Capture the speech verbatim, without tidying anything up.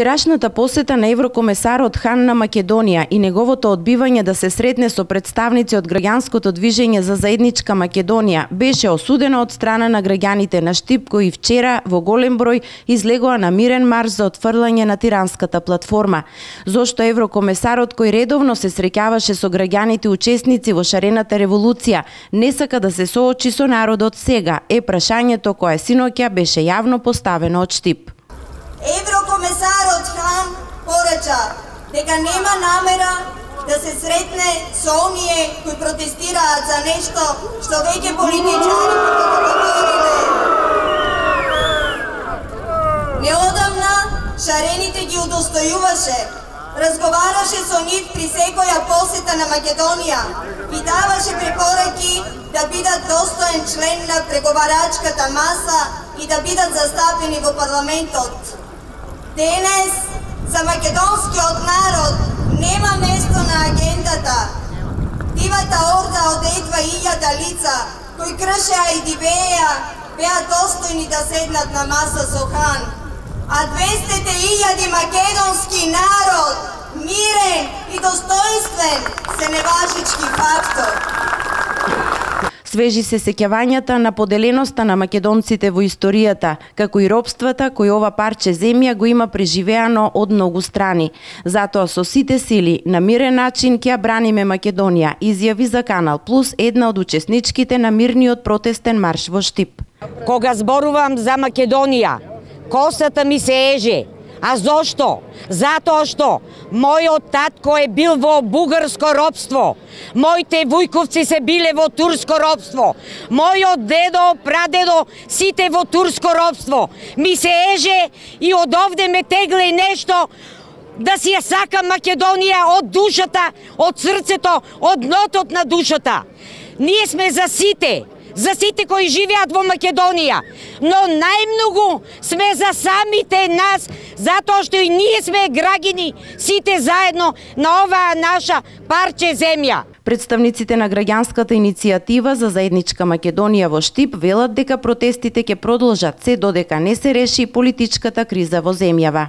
Вчерашната посета на еврокомесарот Хан на Македонија и неговото одбивање да се сретне со представници од граѓанското движење за заедничка Македонија беше осудено од страна на граѓаните на Штип, кои вчера во голем број излегоа на мирен марш за отфрлање на тиранската платформа. Зошто еврокомесарот, кој редовно се среќаваше со граѓаните учесници во шарената револуција, не сака да се соочи со народот сега, е прашањето кое синоќа беше јавно поставено од Штип. Еврокомесарот Хан порача дека нема намера да се сретне со оние кои протестираат за нешто што веќе политичари договориле. Неодамна шарените ги удостојуваше, разговараше со нив при секоја посета на Македонија и даваше препораки да бидат достоен член на преговарачката маса и да бидат застапени во парламентот. Денес за македонскиот народ нема место на агендата. Дивата орда од едва илјада лица кои кршеа и дивеа беа достојни да седнат на маса со Хан. А двесте илјади македонски народ, мирен и достоинствен, се неважички фактор. Свежи се сеќавањата на поделеноста на македонците во историјата, како и робствата кои ова парче земја го има преживеано од многу страни. Затоа со сите сили на мирен начин ќе ја браниме Македонија, изјави за Канал Плюс една од учесничките на мирниот протестен марш во Штип. Кога зборувам за Македонија, косата ми се еже. А зошто? Затоа што мојот татко е бил во бугарско робство, моите вујковци се биле во турско робство, мојот дедо, прадедо, сите во турско робство. Ми се еже и од овде ме тегле нешто да си ја сакам Македонија од душата, од срцето, од днотот на душата. Ние сме за сите, за сите кои живеат во Македонија, но најмногу сме за самите нас, затоа што и ние сме граѓани сите заедно на оваа наша парче земја. Представниците на граѓанската иницијатива за заедничка Македонија во Штип велат дека протестите ќе продолжат се додека не се реши политичката криза во земјава.